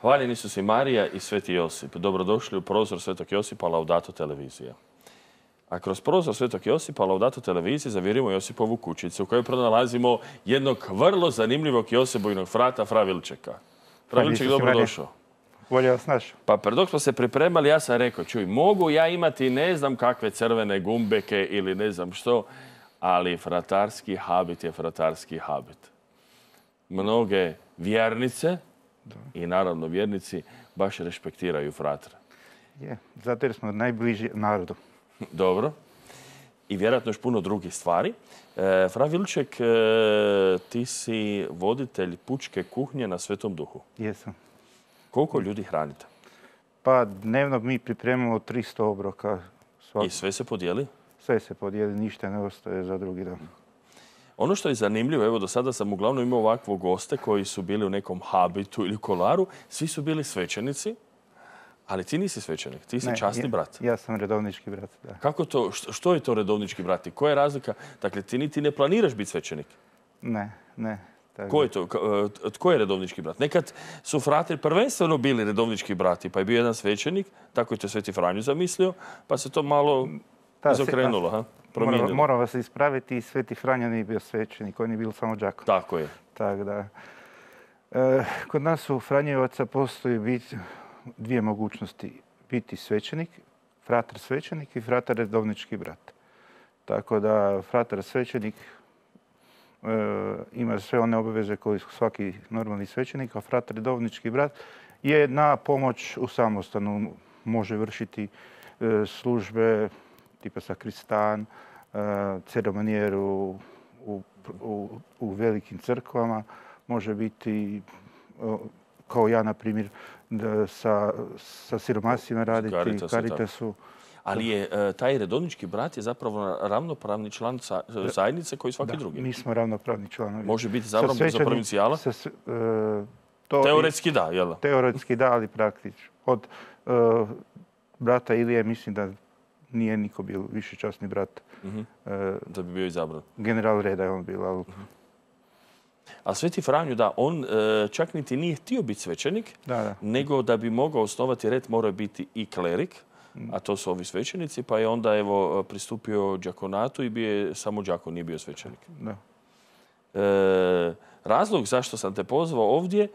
Hvaljeni su si Marija i Sveti Josip. Dobrodošli u prozor Svetog Josipa Laudato televizija. A kroz prozor Svetog Josipa Laudato televizije zavirimo Josipovu kućicu u kojoj pronalazimo jednog vrlo zanimljivog Josipovog frata, fra Vilčeka. Fra Vilček, dobrodošao. Bolje vas našao. Pa dok smo se pripremali, ja sam rekao, čuj, mogu ja imati ne znam kakve crvene gumbeke ili ne znam što, ali fratarski habit je fratarski habit. Mnoge vjernice i naravno vjernici baš respektiraju fratra. Je, zato jer smo najbliži narodu. Dobro. I vjerojatno još puno drugih stvari. Fra Vilček, ti si voditelj pučke kuhnje na Svetom Duhu. Jesam. Koliko ljudi hranite? Pa dnevno mi pripremamo 300 obroka. I sve se podijeli? Sve se podijeli, ništa ne ostaje za drugi dan. Ono što je zanimljivo, evo do sada sam uglavnom imao ovakve goste koji su bili u nekom habitu ili kolaru. Svi su bili svećenici, ali ti nisi svećenik, ti si časni brat. Ja sam redovnički brat, da. Kako to, što je to redovnički brat i koja je razlika? Dakle, ti niti ne planiraš biti svećenik? Ne. Ko je to? Tko je redovnički brat? Nekad su fratri prvenstveno bili redovnički brati, pa je bio jedan svećenik, tako je to Sveti Franjo zamislio, pa se to malo izokrenulo, promijenilo. Moram vas ispraviti, Sveti Franjo nije bio svećenik, on je bio samo đakon. Tako je. Tako da. Kod nas u Franjevaca postoji dvije mogućnosti. Biti svećenik, fratar svećenik i fratar redovnički brat. Tako da fratar svećenik ima sve one obaveze koje svaki normalni svećenik, a fratar redovnički brat je na pomoć u samostanu. Može vršiti službe tipa sakristan, ceremonijer u velikim crkvama. Može biti, kao ja, na primjer, sa siromasima raditi, Caritasu. Ali je taj redovnički brat je zapravo ravnopravni član zajednice koji svaki drugi. Mi smo ravnopravni članovi. Može biti za provincijala? Teoretski da, jel? Teoretski da, ali praktično. Od brata Ilije mislim da nije niko bio višečasni brat. Da bi bio izabran. General reda je on bio. A Sveti Franjo, da, on čak niti nije htio biti svećenik, nego da bi mogao osnovati red mora biti i klerik, a to su ovi svećenici, pa je onda pristupio đakonatu i bio je samo đakon, nije bio svećenik. Razlog zašto sam te pozvao ovdje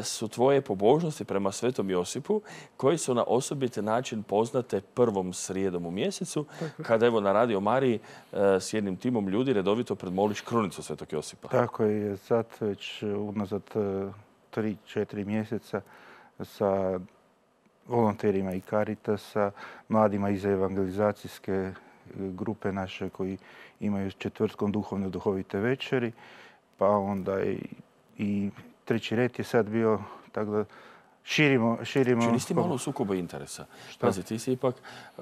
su tvoje pobožnosti prema Svetom Josipu, koji su na osobiti način poznate prvom srijedom u mjesecu, kada na Radio Mariji s jednim timom ljudi redovito predmoliš krunicu Svetog Josipa. Tako je, sad već unazad 3-4 mjeseca sa volonterima i Caritasa, mladima iz evangelizacijske grupe naše koji imaju četvrtkom duhovne duhovite večeri, pa onda i treći red je sad bio, tako da širimo... Čini ti malo sukoba interesa. Pazi, ti si ipak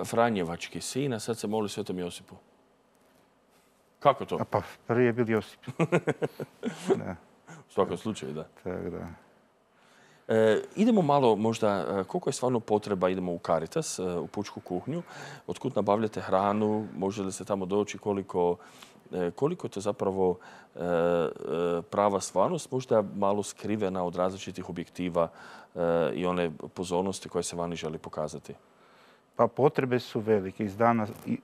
Franjevački sin, a sad se moli Svetom Josipu. Kako to? Pa prvi je bil Josip. U svakom slučaju, da. Tako da. Idemo malo možda, koliko je stvarno potreba, idemo u Caritas, u pučku kuhnju. Otkud nabavljate hranu, može li se tamo doći, koliko je to zapravo prava stvarnost, možda malo skrivena od različitih objektiva i one pozornosti koje se vani želi pokazati? Pa potrebe su velike,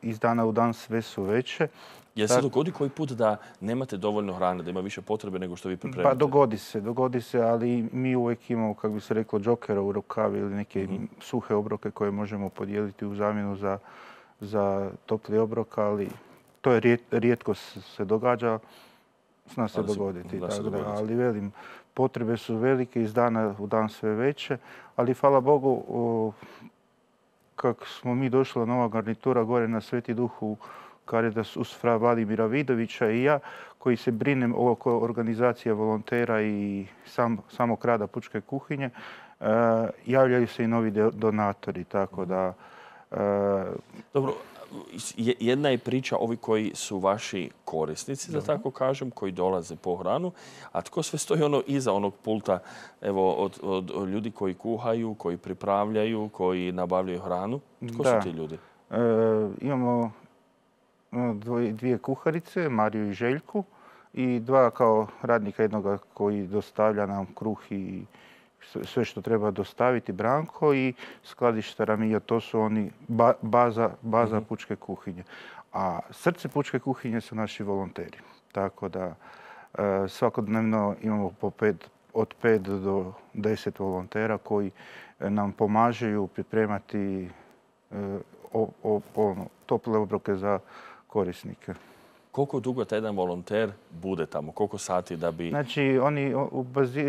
iz dana u dan sve su veće. Je se dogodi koji put da nemate dovoljno hrane, da ima više potrebe nego što vi pripremite? Pa dogodi se, ali mi uvijek imamo, kako bi se reklo, džokera u rukavi ili neke suhe obroke koje možemo podijeliti u zamjenu za topli obrok, ali to je rijetko se događa, zna se dogoditi. Ali velim, potrebe su velike, iz dana u dan sve veće, ali hvala Bogu, kako smo mi došli, nova garnitura gore na Sveti Duh u Caritas uz fra Vladimira Vidovića i ja, koji se brinem oko organizacije volontera i samog rada pučke kuhinje, javljaju se i novi donatori, tako da... Dobro, jedna je priča ovi koji su vaši korisnici, da tako kažem, koji dolaze po hranu, a tko sve stoji iza onog pulta, evo, od ljudi koji kuhaju, koji pripravljaju, koji nabavljaju hranu? Tko su ti ljudi? Imamo dvije kuharice, Mariju i Željku, i dva kao radnika, jednoga koji dostavlja nam kruh i sve što treba dostaviti Branko i skladištara Mija, to su oni baza pučke kuhinje. A srce pučke kuhinje su naši volonteri. Tako da svakodnevno imamo od 5 do 10 volontera koji nam pomažu pripremati tople obroke za korisnike. Koliko dugo taj jedan volonter bude tamo? Koliko sati da bi... Znači,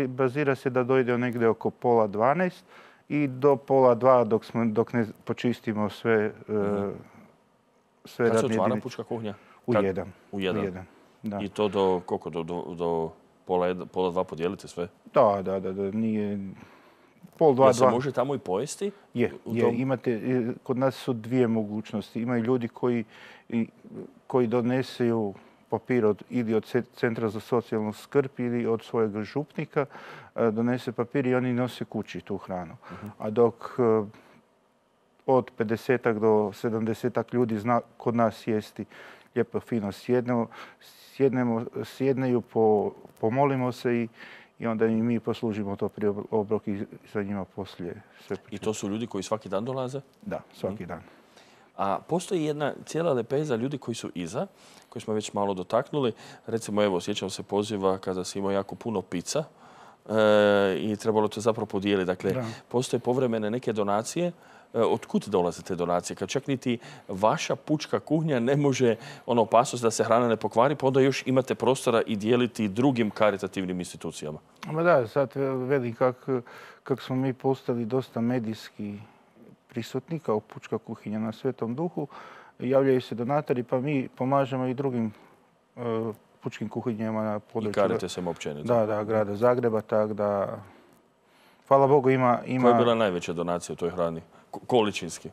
bazira se da dojde negdje oko 11:30 i do 11:30 dok ne počistimo sve radne jedinice. Kad se otvara pučka kuhinja? U 1. U 1. Da. I to do koliko? Do pola 2 podijelite sve? Da. Nije... 11:30, Jel se može tamo i pojesti? Imate, kod nas su dvije mogućnosti. Imaju ljudi koji doneseju papir ili od Centra za socijalnu skrb ili od svojeg župnika, donese papir i oni nose kući tu hranu. A dok od 50 do 70 ljudi zna kod nas jesti lijepo fino sjedneju, pomolimo se i onda i mi poslužimo to prije obrok i za njima poslije sve. I to su ljudi koji svaki dan dolaze? Da, svaki dan. A postoji jedna cijela lepeza ljudi koji su iza, koji smo već malo dotaknuli. Recimo, evo, sjećam se poziva kada si imao jako puno pizza i trebalo to zapravo podijeliti. Dakle, postoje povremene neke donacije. Otkud dolaze te donacije? Kad čak niti vaša pučka kuhinja ne može opasnost da se hrana ne pokvari, pa onda još imate prostora i dijeliti drugim karitativnim institucijama. Ma da, sad velim kako smo mi postali dosta medijski prisutni kao pučka kuhinja na Svetom Duhu, javljaju se donatori, pa mi pomažemo i drugim pučkim kuhinjama na području... I Caritasem općenito. Da, grada Zagreba, tako da... Hvala Bogu ima... Koja je bila najveća donacija u toj hrani? Količinski?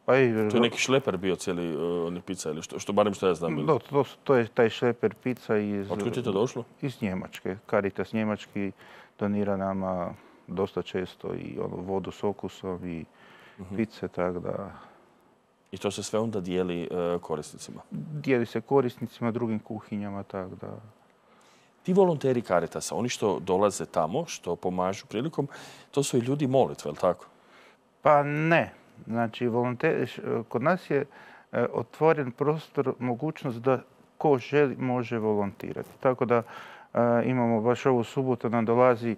To je neki šleper bio cijeli pizza ili što barem što ja znam. To je taj šleper pizza iz... Otkud je to došlo? Iz Njemačke. Caritas njemački donira nama dosta često i vodu s okusom i pice, tako da... I to se sve onda dijeli korisnicima? Dijeli se korisnicima, drugim kuhinjama, tako da... Ti volonteri Caritasa, oni što dolaze tamo, što pomažu prilikom, to su i ljudi molitve, je li tako? Pa ne. Znači, kod nas je otvoren prostor, mogućnost da ko želi može volontirati. Tako da imamo baš ovu subotu nam dolazi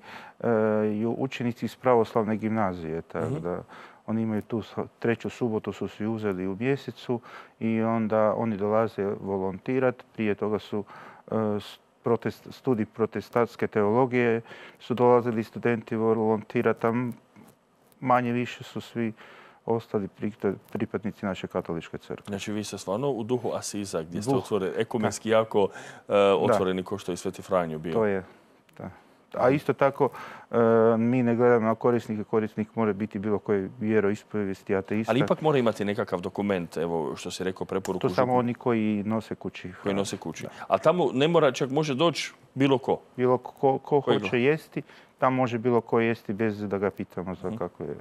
učenici iz pravoslavne gimnazije. Tako da oni imaju tu 3. subotu su svi uzeli u mjesecu i onda oni dolaze volontirati. Prije toga su studij protestantske teologije su dolazili studenti volontirati. Tam manje više su svi ostali pripadnici naše katoličke crkve. Znači vi ste stvarno u duhu Asiza gdje ste ekumenski jako otvoreni kao što je i Sveti Franjo bio. To je, da. A isto tako mi ne gledamo na korisnike. Korisnik mora biti bilo koje vjeroispovijesti, ateista. Ali ipak mora imati nekakav dokument, evo što si rekao, preporuku. To samo oni koji nose kući. Koji nose kući. A tamo ne mora, čak može doći bilo ko? Bilo ko hoće jesti, tam može bilo ko jesti bez da ga pitamo za kako je.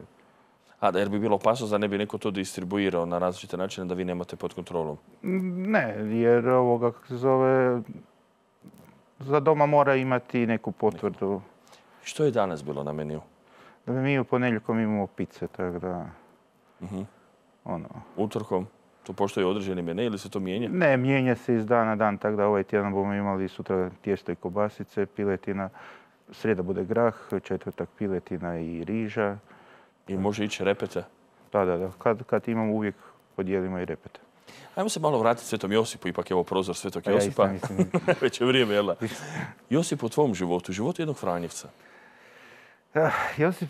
Jer bi bilo opasnost da ne bi neko to distribuirao na različite načine da vi nemate pod kontrolom? Ne, jer ovoga, kako se zove, za doma mora imati neku potvrdu. Što je danas bilo na meniju? Mi u ponedjeljkom imamo pice, tako da... Utorkom? To postoji određeni mene ili se to mijenja? Ne, mijenja se iz dana na dan, tako da ovaj tjedan bomo imali sutra tijesto i kobasice, piletina, srijeda bude grah, četvrtak piletina i riža. I može ići repete? Da. Kad imamo uvijek podijelimo i repete. Ajmo se malo vratiti Svetom Josipu, ipak je ovo prozor Svetog Josipa. Već je vrijeme, jel da? Josip u tvom životu, životu jednog Franjevca. Josip,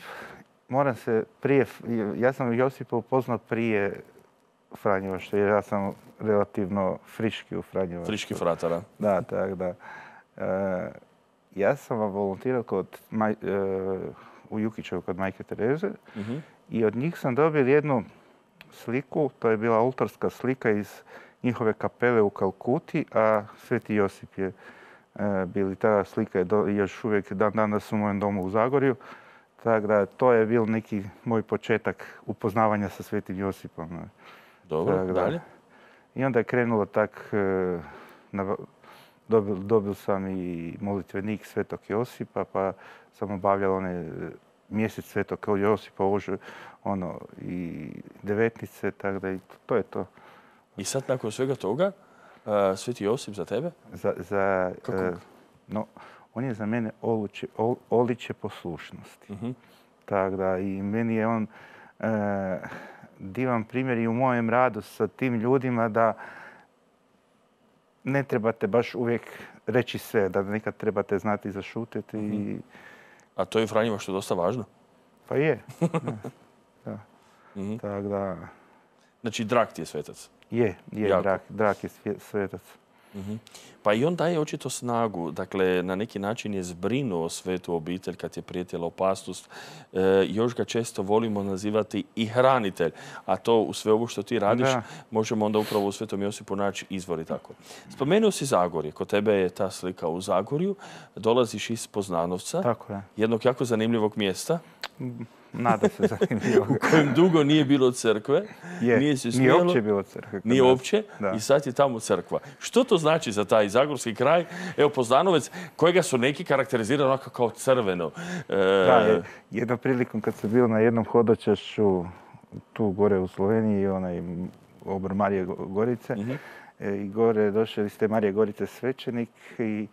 ja sam Josipa upoznao prije Franjevaštva, jer ja sam relativno friški u Franjevaštvu. Friški fratara. Da, tako da. Ja sam volontirao u Jukićevu kod Majke Tereze i od njih sam dobio jednu sliku, to je bila oltarska slika iz njihove kapele u Kalkuti, a Sveti Josip je bili. Ta slika je još uvijek dan danas u mojem domu u Zagorju. Tako da to je bil neki moj početak upoznavanja sa Svetim Josipom. Dobro, dalje? I onda je krenulo tak, dobil sam i molitvenik Svetog Josipa, pa sam obavljal one mjesec Svetog Josipa, i devetnice, tako da i to je to. I sad nakon svega toga, Sveti Josip za tebe? On je za mene oličje poslušnosti. Tako da i meni je on divan primjer i u mojem radu sa tim ljudima da ne trebate baš uvijek reći sve, da nekad trebate znati zašutiti. A to je Franjima što je dosta važno? Pa je. Da. Tako da... Znači, drag ti je svetac? Je, drag je svetac. Pa i on daje očito snagu. Dakle, na neki način je zbrinuo svetu obitelj kad je prijetila opasnost. Još ga često volimo nazivati i hranitelj. A to u sve ovo što ti radiš možemo onda upravo u Svetom Josipu naći izvor i tako. Spomenuo si Zagorje. Kod tebe je ta slika u Zagorju. Dolaziš iz Poznanovca. Tako je. Jednog jako zanimljivog mjesta. Nada se zanimljivo. U kojem dugo nije bilo crkve. Nije uopće bilo crkve. Nije uopće i sad je tamo crkva. Što to znači za taj zagorski kraj? Evo Poznanovec, kojega su neki karakterizirali onako kao crveno. Da, jednom prilikom kad sam bio na jednom hodočašću tu gore u Sloveniji, obor Marije Gorice, i gore je došao iz te Marije Gorice svećenik i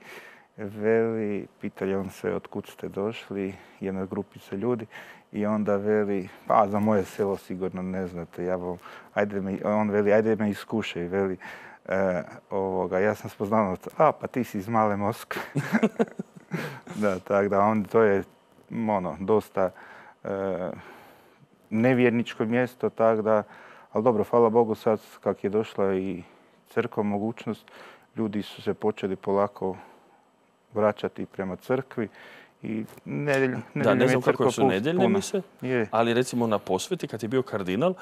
veli, pitali on sve otkud ste došli, jedna grupica ljudi, i onda veli, pa za moje selo sigurno ne znate, on veli, ajde me iskušaj, veli, ja sam spoznanovac, pa ti si iz Male Moskve. Da, tako da, to je dosta nevjerničko mjesto, tako da, ali dobro, hvala Bogu sad kak je došla i crkva mogućnost, ljudi su se počeli polako vraćati prema crkvi. I da, ne znam kako su nedeljne mise, ali recimo na posveti, kad je bio kardinal,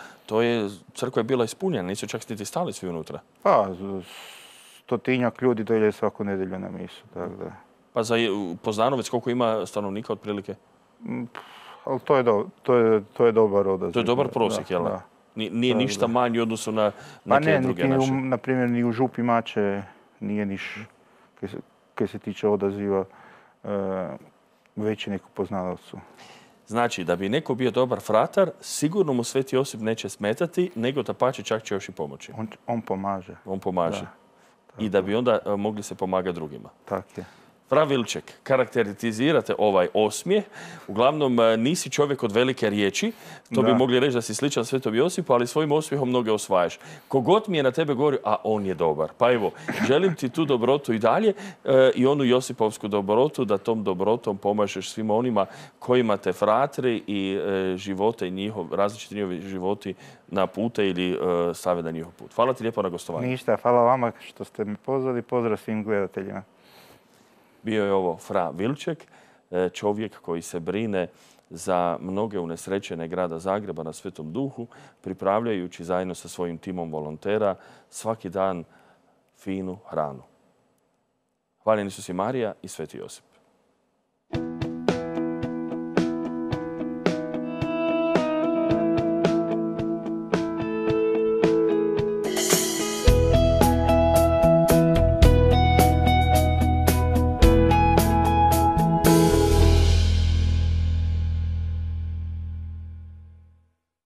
crkva je bila ispunjena, nisu čak niti stali svi unutra. Pa, 100-tinjak ljudi dolje svaku nedelju na misu, tako da. Pa za Poznanovec koliko ima stanovnika otprilike? Ali to je dobar odaziv. To je dobar prosjek, jel? Nije ništa manji u odnosu na neke druge naše. Na primjer, ni u Župi Mače nije niš, kaj se tiče odaziva, veći neko Poznanovcu. Znači, da bi neko bio dobar fratar, sigurno mu Sveti Josip neće smetati, nego dapače čak će još i pomoći. On pomaže. On pomaže. I da bi onda mogli se pomagati drugima. Tako je. Fra Vilček, karakterizirate ovaj osmijeh. Uglavnom, nisi čovjek od velike riječi. To bi mogli reći da si sličan Svetom Josipu, ali svojim osmijehom mnoge osvajaš. Kogod mi je na tebe govorio, a on je dobar. Pa evo, želim ti tu dobrotu i dalje i onu Josipovsku dobrotu, da tom dobrotom pomažeš svima onima kojima te fratri i živote i različiti njihovi životi na pute ili stave na njihov put. Hvala ti lijepo na gostovanju. Ništa, hvala vama što ste me pozvali. Pozdrav svim gledateljima. Bio je ovo Fra Vilček, čovjek koji se brine za mnoge unesrećene grada Zagreba na Svetom Duhu, pripravljajući zajedno sa svojim timom volontera svaki dan finu hranu. Hvaljeni su si Marija i Sveti Josip.